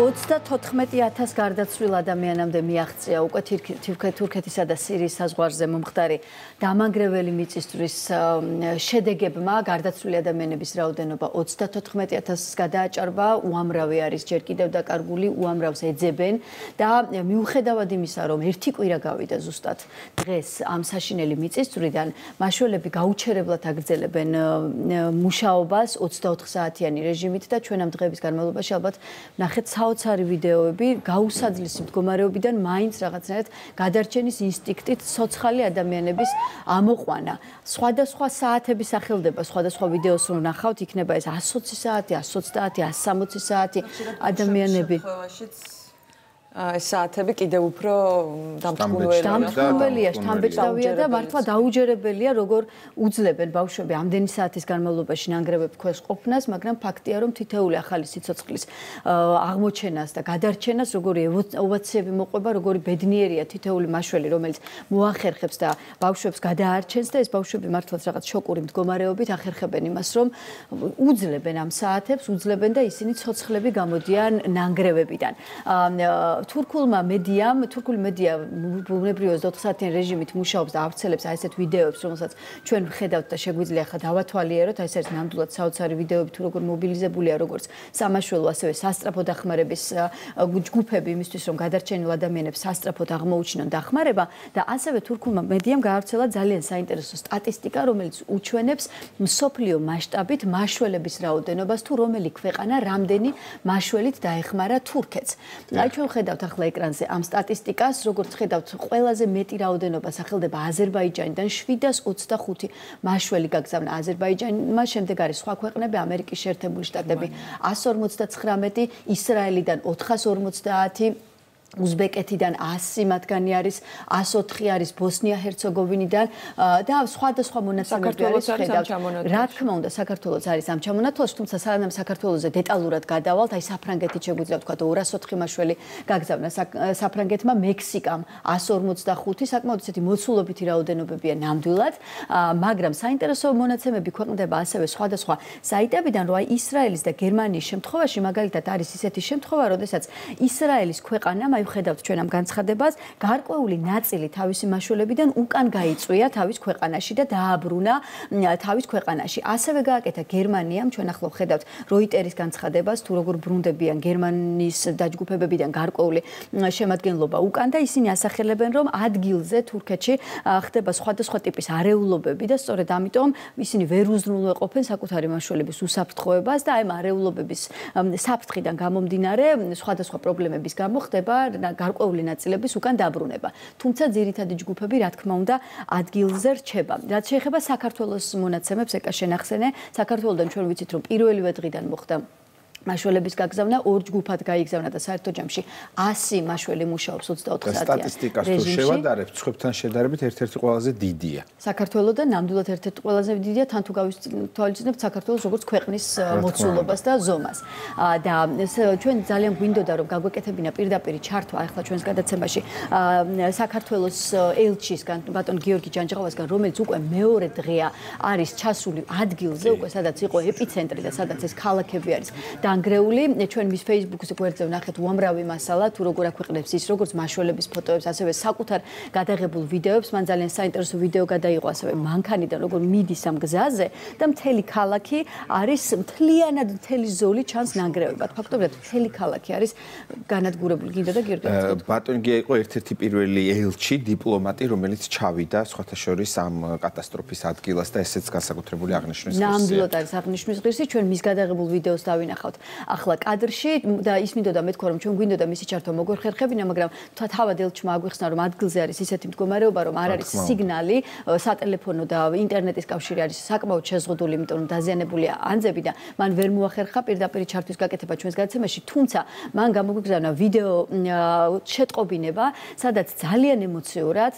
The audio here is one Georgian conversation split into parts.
34,000 გარდაცვლილ ადამიანამდე მიაღწია უკვე თურქეთისა და სირიის საზღვარზე მომხდარი დამანგრეველი მიწისძვრის შედეგებმა გარდაცვლილი ადამიანების რაოდენობა 34,000-ს გადააჭარბა, უამრავი არის ჯერ კიდევ დაკარგული, უამრავს ეძებენ და მიუხედავად იმისა, რომ ერთი კვირა გავიდა ზუსტად დღეს ამ საშინელი მიწისძვრიდან, მაშველები გაუჩერებლად აგრძელებენ მუშაობას 24 საათიანი რეჟიმით და ჩვენ ამ დღეების განმავლობაში ალბათ ნახეთ საოცარი ვიდეოები გაუსაძლისი მდგომარეობიდან მაინც რაღაცნაირად გადარჩენის ინსტინქტით ცოცხალი ადამიანების ამოყვანა. Სხვადასხვა საათები სახელდება, სხვადასხვა ვიდეოს რომ ნახავთ, იქნება ეს 120 საათი, 130, 160 საათი ადამიანები. ეს საათები კიდევ უფრო დამთმობელია, შთამბეჭდავია და მართლა დაუჯერებელია, როგორ უძლებენ ბავშვები ამდენი საათის განმავლობაში ნანგრევებ ქვეშ ყოფნას, მაგრამ ფაქტია, რომ თითოეული ახალი სიცოცხლის აღმოჩენას და გადარჩენას, როგორი ოვაციები მოყვება, როგორი ბედნიერია თითოეული მაშველი, რომელიც მოახერხებს და ბავშვებს გადაარჩენს და ეს ბავშვები მართლაც რაღაც შოკური მდგომარეობით ახერხებენ იმას, რომ უძლებენ ამ საათებს, უძლებენ და ისინი ცოცხლები გამოდიან ნანგრევებიდან. თურქული მედია ბუნებრივია 24 საათიან რეჟიმით მუშაობს და ავრცელებს აი ესეთ ვიდეოებს, რომელსაც ჩვენ ვხედავთ და შეგვიძლია ახლა დავათვალიეროთ, აი ეს არის ნამდვილად საოცარი ვიდეოები, თუ როგორ მობილიზებულია როგორც სამაშველო, ასევე სასტრაფო დახმარების ჯგუფები იმისთვის, რომ გადარჩენილ ადამიანებს სასტრაფოდ აღმოუჩინონ დახმარება და ასევე თურქულმა მედიამ გაავრცელა ძალიან საინტერესო სტატისტიკა, რომელიც უჩვენებს მსოფლიო მასშტაბით მაშველების რაოდენობას, თუ რომელი ქვეყანა რამდენი მაშველით დაეხმარა თურქეთს. აი ჩვენ ხედავთ ახლა ეკრანზე ამ სტატისტიკას, როგორც ხედავთ, ყველაზე მეტი რაოდენობა სახელდება აზერბაიჯანიდან 725 მაშველი გაგზავნა აზერბაიჯანმა, შემდეგ არის სხვა ქვეყნები, ამერიკის შეერთებული შტატები 159, ისრაელიდან 450, უზბეკეთიდან 100 მათგანი არის, 104 არის ბოსნია-ჰერცეგოვინიდან და სხვადასხვა მონაცემები არის ხედავთ. რა თქმა უნდა, საქართველოს არის ამ ჩამონათვალში, თუმცა სანამ საქართველოზე დეტალურად გადავალთ, აი საფრანგეთით შეგვიძლია ვთქვათ 204 მაშველი გაგზავნა საფრანგეთმა, მექსიკამ 145, საკმაოდ ისეთი მოცულობითი რაოდენობებია ნამდვილად, მაგრამ საინტერესო მონაცემები ქვეყნდება ასევე სხვადასხვა საიტებიდან, რომ აი ისრაელის და გერმანიის შემთხვევაში მაგალითად არის ისეთი შემთხვევა, როდესაც ისრაელის ქვეყანამ ხედავთ ჩვენ ამ განცხადებას, გარკვეული ნაწილი თავისი მაშველებიდან უკან გაიწვია თავის ქვეყანაში და დააბრუნა თავის ქვეყანაში. ასევე გააკეთა გერმანიამ, ჩვენ ახლა ხედავთ როიტერის განცხადებას, თუ როგორ ბრუნდებიან გერმანიის დაჯგუფებებიდან გარკვეული შემადგენლობა უკან და ისინი ასახელებენ, რომ ადგილზე თურქეთში ხდება სხვადასხვა ტიპის არეულობები და სწორედ ამიტომ ისინი ვერ უზრუნველყოფენ საკუთარი მაშველების უსაფრთხოებას და აი ამ არეულობების საფრთხიდან გამომდინარე სხვადასხვა პრობლემების გამო ხდება გარკვეული ნაწილების უკან დაბრუნება. თუმცა ძირითადი ჯგუფები, რა თქმა უნდა, ადგილზე რჩება. რაც შეეხება საქართველოს მონაცემებს, ეკა შენახსენე, საქართველოდან ჩვენ ვიცით, რომ პირველივე დღიდან მოხდა მაშველების გაგზავნა, ორ ჯგუფად გაიგზავნა და საერთო ჯამში 100 მაშველი მუშაობს 24 საათიან სტატისტიკას თუ შევადარებთ, სხვებთან შედარებით ერთ-ერთი ყველაზე დიდია. საქართველოდან ნამდვილად ერთ-ერთი ყველაზე დიდია, თან თუ გავისწავლეთ საქართველოს როგორც ქვეყნის მოცულობას და ზომას. და ჩვენ ძალიან გვინდოდა რომ გაგვეკეთებინა პირდაპირ ჩართვა ახლა ჩვენს გადაცემაში საქართველოს ელჩისგან, ბატონ გიორგი ჯანჯღავასგან, რომელიც უკვე მეორე დღეა არის ჩასული ადგილზე, უკვე სადაც იყო ეპიცენტრი და სადაც ეს ქალაქები არის. ანგრეული, ჩვენ მის Facebook-ზე გვერდზე ვნახეთ უამრავი მასალა, თუ როგორ აქვეყნებს ის, როგორც მაშველების ფოტოებს, ასევე საკუთარ გადაღებულ ვიდეოებს, მან ძალიან საინტერესო ვიდეო გადაიღო ასევე მანქანიდან, როგორ მიდის ამ გზაზე და მთელი ქალაქი არის მთლიანად მთელი ზოლი ჩანს ნანგრევებად. ფაქტობრივად მთელი ქალაქი არის განადგურებული. გინდა და გიორგი. ბატონ გია იყო ერთ-ერთი პირველი ელჩი, დიპლომატი, რომელიც ჩავიდა სხვათა შორის ამ კატასტროფის ადგილას და ესეც განსაკუთრებული აღნიშვნის ღირსია. ნამდვილად არის აღნიშვნის ღირსი, ჩვენ მის გადაღებულ ვიდეოს დავინახავთ. ახლა კადრში და ის მინდოდა მეთქვა რომ ჩვენ გვინდოდა მისი ჩართვა მოგვერხერხებინა, მაგრამ თავად ელჩმა აგვიხსნა რომ ადგილზე არის ისეთი მდგომარეობა, რომ არ არის სიგნალი, სატელეფონო და ინტერნეტის კავშირი არის საკმაოდ შეზღუდული, იმიტომ რომ დაზიანებულია ანძები და მან ვერ მოახერხა პირდაპირ ჩართვის გაკეთება ჩვენს გადაცემაში, თუმცა მან გამოგვიგზავნა ვიდეო შეტყობინება, სადაც ძალიან ემოციურად,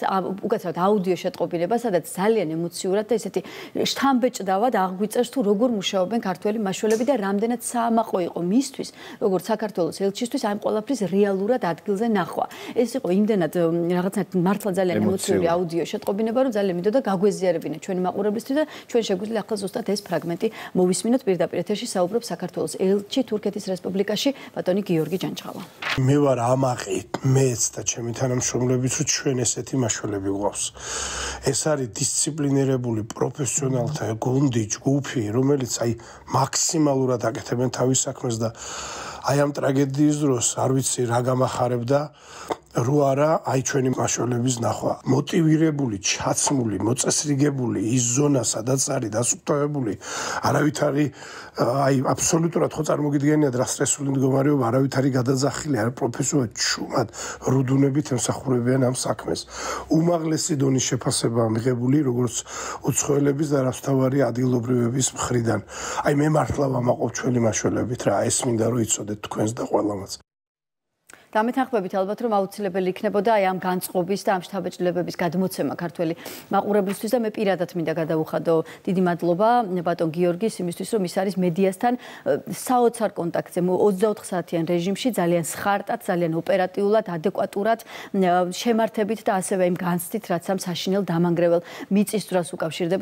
უკაცრავად აუდიო შეტყობინება, სადაც ძალიან ემოციურად და ესეთი შთამბეჭდავად აღგვიწერს თუ როგორ მუშაობენ ქართველი მაშველები და რამდენად საამაყო უსაწყო იყო მისთვის, როგორც საქართველოს ელჩისთვის ამ ყველაფრის რეალურად ადგილზე ნახვა. ეს იყო იმდენად რაღაცნაირად მართლა ძალიან ემოციური აუდიო შეტყობინება, რომ ძალიან მინდოდა გაგვეზიარებინა ჩვენი მაყურებლისთვის და ჩვენ შეგვიძლია ახლა ზუსტად ეს ფრაგმენტი მოვისმინოთ პირდაპირ ეთერში საუბრობს საქართველოს ელჩი თურქეთის რესპუბლიკაში ბატონი გიორგი ჯანჯღალა. მე ვარ ამაყი მეც და ჩემი თანამშრომლებიც რომ ჩვენ ესეთი მაშველები გვყავს. ეს არის დისციპლინირებული პროფესიონალთა გუნდი, ჯგუფი, რომელიც აი მაქსიმალურად აკეთებენ თავის საქმეს და აი ამ ტრაგედიის დროს არ ვიცი რა გამახარებდა რო არა აი ჩვენი მაშველების ნახვა მოტივირებული, ჩაცმული, მოწესრიგებული ის ზონა სადაც არის დასუფთავებული არავით არის აი აბსოლუტურად ხო წარმოგიდგენიათ რა სტრესული მდგომარეობა არავით არის გადაძახილი არ პროფესიულად ჩუმად რუდუნებით ემსახურებიან ამ საქმეს უმაღლესი დონის შეფასებაა მიღებული როგორც უცხოელების და რასთავარი ადგილობრივების მხრიდან აი მე მართლა ვამაყობ ჩვენი მაშველებით რა ეს მინდა რომ იცოდეთ თქვენს და ყველამაც დამეთანხმებით ალბათ რომ აუცილებელი იქნებოდა აი ამ განწყობის და ამ შთაბეჭდილებების გადმოცემა ქართველი მაყურებლისთვის და მე პირადად მინდა გადავუხადო დიდი მადლობა ბატონ გიორგის იმისთვის რომ ის არის მედიასთან საოცარ კონტაქტზე 24 საათიან რეჟიმში ძალიან სხარტად, ძალიან ოპერატიულად, ადეკვატურად შემართებით და ასევე იმ განცდით რაც ამ საშინელ დამანგრეველ მიწისძვრას უკავშირდება